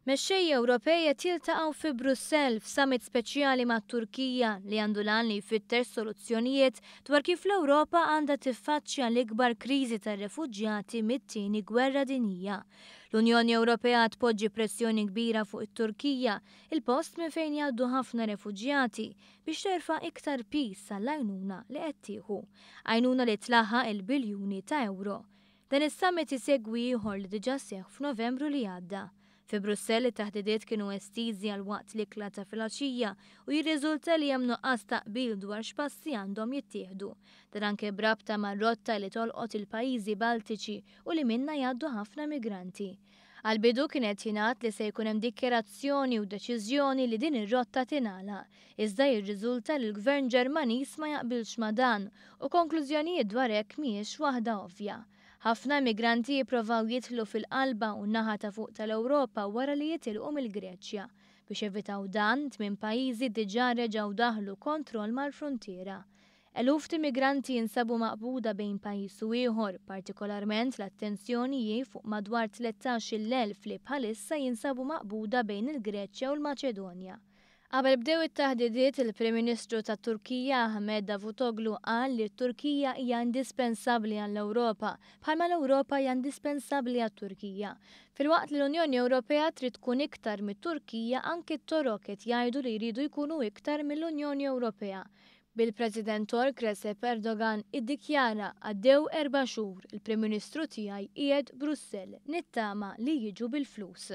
Mexxejja Ewropej qed jiltaqgħu fi Brussell f'summit speċjali mat-Turkija li għandu l-għan li jfittex soluzzjonijiet dwar kif l-Ewropa għandha tiffaċċja l-ikbar kriżi tar-refuġjati mit-Tieni Gwerra Dinjija. L-Unjoni Ewropea tpoġġi pressjoni kbira fuq it-Turkija, il-post minn fejn jgħaddu ħafna refuġjati, biex terfa' iktar piż għall-għajnuna li qed tieħu. Għajnuna li tlaħħaq il-biljuni ta' ewro. Dan is-summit isegwi ieħor li diġà seħħ f'Novembru li għadda. Fi Brussell it-taħdidiet kienu estiżi għal waqt l-ikla ta' filgħaxija u jirriżulta li hemm nuqqas ta' qbil dwar x'passi għandhom jittieħdu. Dan anke b'rabta mar-rotta li tolqot il-pajjiżi Baltiċi u li minnha jgħaddu ħafna migranti. Għall-bidu kien qed jingħad li se jkun hemm dikjarazzjoni u deċiżjoni li din ir-rotta tingħalaq, iżda jirriżulta li l-Gvern Ġermaniż ma jaqbilx ma' dan u konklużjonijiet dwar hekk mhijiex waħda ovvja. Ħafna immigranti jipprovaw jidħlu fil-qalba u n-naħa ta' fuq tal-Ewropa wara li jitilqu mill-Greċja. Biex jevitaw dan, tmien pajjiżi diġà reġgħu daħlu kontroll mal-fruntiera. Eluf t'immigranti jinsabu maqbuda bejn pajjiż u ieħor, partikolarment l-attenzjoni hi fuq madwar 13,000 li bħalissa jinsabu maqbuda bejn il-Greċja u l-Maċedonja. Qabel bdew it-taħdidiet, il-Prim Ministru tat-Turkija Ahmed Davutoglu qal li t-Turkija hija indispensabbli għall-Ewropa, bħalma l-Ewropa hija indispensabbli għat-Turkija. Filwaqt li l-Unjoni Ewropea trid tkun iktar mit-Turkija, anki t-Torok qed jgħidu li jridu jkunu iktar mill-Unjoni Ewropea. Bil-President Tork Recep Erdogan iddikjara għaddew erba' xhur, il-Prim Ministru tiegħi qiegħed Brussell, nittama li jiġu bil-flus.